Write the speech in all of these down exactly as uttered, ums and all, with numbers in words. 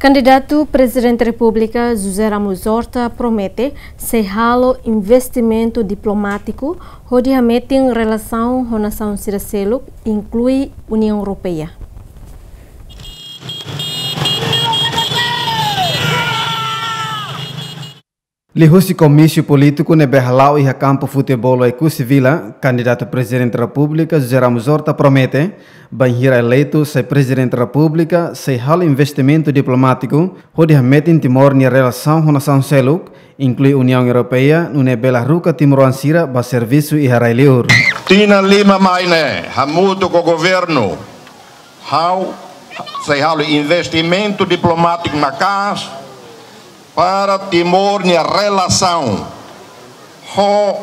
Kandidatu Prezidente Repúblika José Ramos Horta promete sei halo investimentu diplomátiku hodi hametin relasaun ho nasaun sira seluk, inklui Uniaun Europeia. Liuhusi komísiu polítiku ne'ebé hala'o iha kampu futeból Oekusi Vila, kandidatu Prezidente Repúblika José Ramos Horta promete, bainhira eleitu sai Prezidente Repúblika, sei halo investimentu diplomátiku hodi hametin Timor nia relasaun ho nasaun seluk, inklui Uniaun Europeia, nune'e bele haruka timoroan sira ba servisu iha rai-liur. Tinan lima mai ne'e, hamutuk ho governu, ha'u sei halo investimentu diplomátiku maka'as para Timor nia relasaun ho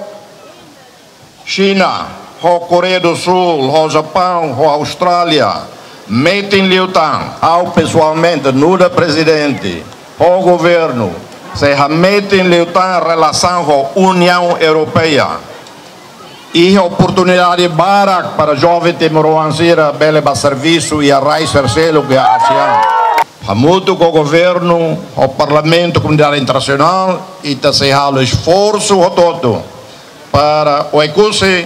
Xina, ho Koreia do Sul, ho Japaun, ho Austrália, metin liután, ha'u pesoalmente, nu'udar prezidente, ho governu, sei hametin liután relasaun ho Uniaun Europeia. Iha oportunidade barak para joven timoroan sira bele ba servisu iha rai sira seluk iha ASEAN. Hamutuk ho governu, ho parlamentu, komunidade internasionál, ita sei halo esforsu hotu-hotu para Oekusi,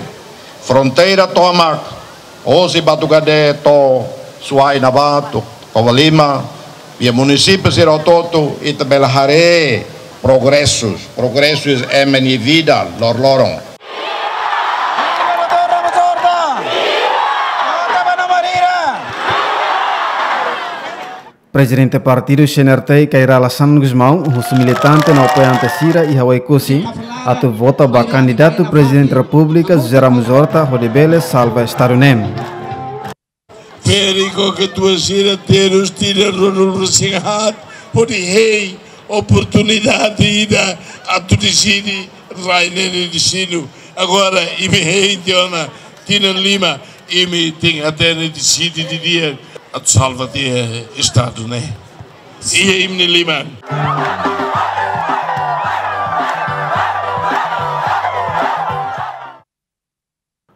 fronteira tomak, hosi Batugade to'o Suai Nabatu, Covalima, iha munisípiu sira hotu-hotu, ita bele haree progresus, progresus ema nia vida loroloron. Prezidente partidu C N R T, Kay Rala Xanana Gusmão, husu militante no apoiante sira iha Oekusi atu vota ba kandidatu Prezidente Repúblika José Ramos Horta hodi bele salva Estadu ne'e. Peri ko ke tua sira terus tidak ronul rusingat, hodi hei oportunidade ida atu deside rai ne'e nia destinu. Agora, imi hei tiha ona tinan lima, imi tenke hatene deside didi'ak atu salva tiha Estadu ne'e. Iha imi-nia liman.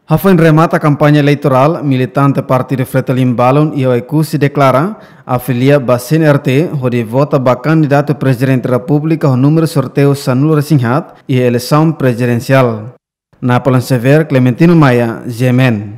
Hafoin remata kampaña eleitorál, militante partidu Fretilin balun iha Oekusi deklara afilia ba C N R T hodi vota ba kandidatu Prezidente Repúblika ho númeru sorteiu sanulu-resin-haat iha eleisaun prezidensiál. Napoleon Xavier, Clementino Maia, G M N.